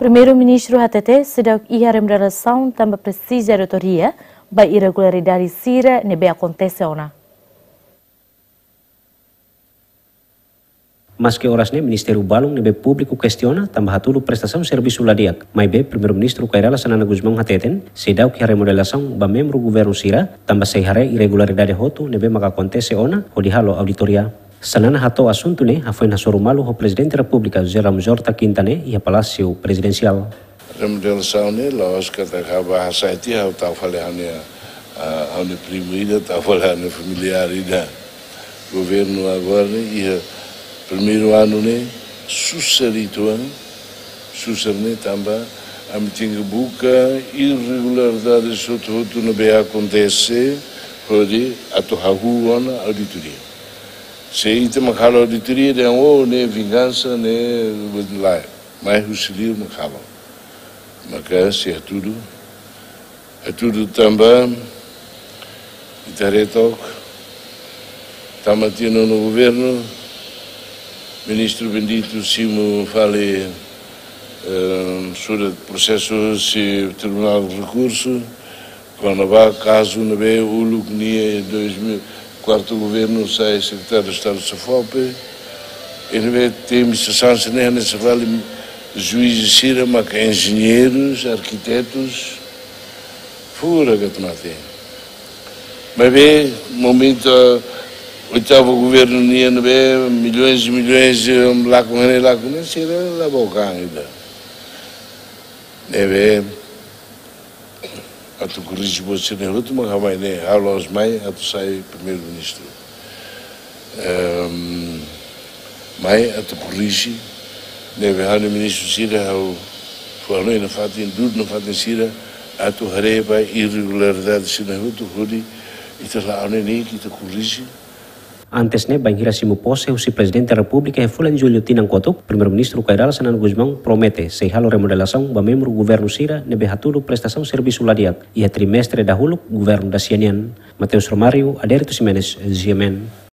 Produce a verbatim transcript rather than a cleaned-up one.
Primeiru-Ministru hatete seidauk iha remodelasaun tanba presiza auditoria ba irregularidade sira ne'ebé akontese ona. Maske oras ne'e ministériu balun ne'ebé públiku kestiona tanba hatudu prestasaun servisu la di'ak, maibé Primeiru-Ministru Kay Rala Xanana Gusmão hateten seidauk iha remodelasaun ba membru governu sira tanba sei haree irregularidade hotu ne'ebé maka akontese ona hodi halo auditoria. Xanana hato'o asuntu ne'e hafoin hasoru malu ho Prezidente Repúblika José Ramos Horta kinta ne'e iha Palásiu Prezidensiál. Remodelasaun ne'e la'ós katak ha'u bá hasai tiha, ha'u tau fali ha'u-nia, ah, ha'u-nia primu ida, tau fali ha'u-nia familiár ida. Governu agora ne'e iha primeiru anu ne'e susar uitoan, susar ne'e tanba ami tenke buka irregularidade hotu-hotu ne'ebé akontese hodi atu hahú ona auditoria. Se ita mak halo auditoria dehan, oh, ne'e vingansa, ne'e lae. Mai husi liur mak halo. Maka sei hatudu, hatudu tanba ita haree took, tama tiha nonu governu, Ministru Benedito simu fali, eh, surat prosesu husi Tribunál Rekursu, kona-ba kazu ne'ebé uluk nia dois mil, kuartu governu sai sekretáriu Estadu SEFOPE, i ne'ebé temi sasán sira-ne'e hanesan fali juiz sira maka enjeñeirus, arkitetus, furak atu mate. Maibé momentu oitavu governu nian ne'ebé milhões e milhões, eh, lakon ne'e lakon ne'e sira la bokan ida. Ne'ebé atu korrije buat sira-ne'e hotu mak ha'u mai ne'e, ha'u la'ós mai atu sai Primeiru-Ministru. Ehm, mai atu korrije, ne'ebé ha'u-nia ministru sira, ha'u fó hanoin nafatin, dudu nafatin sira, atu haree ba irregularidade sira-ne'e hotu hodi ita la'o ne'e, ne'e ita korrije. Antes ne'e, bainhira simu pose husi Prezidente Repúblika iha fulan Jullu tinan kotuk, Primeiru-Ministru Kay Rala Xanana Gusmão promete sei halo remodelasaun ba membru governu sira ne'ebé hatudu prestasaun servisu la di'ak iha trimestre dahuluk governu da-sia nian. Mateus Romário, Adérito Ximenes, G M N.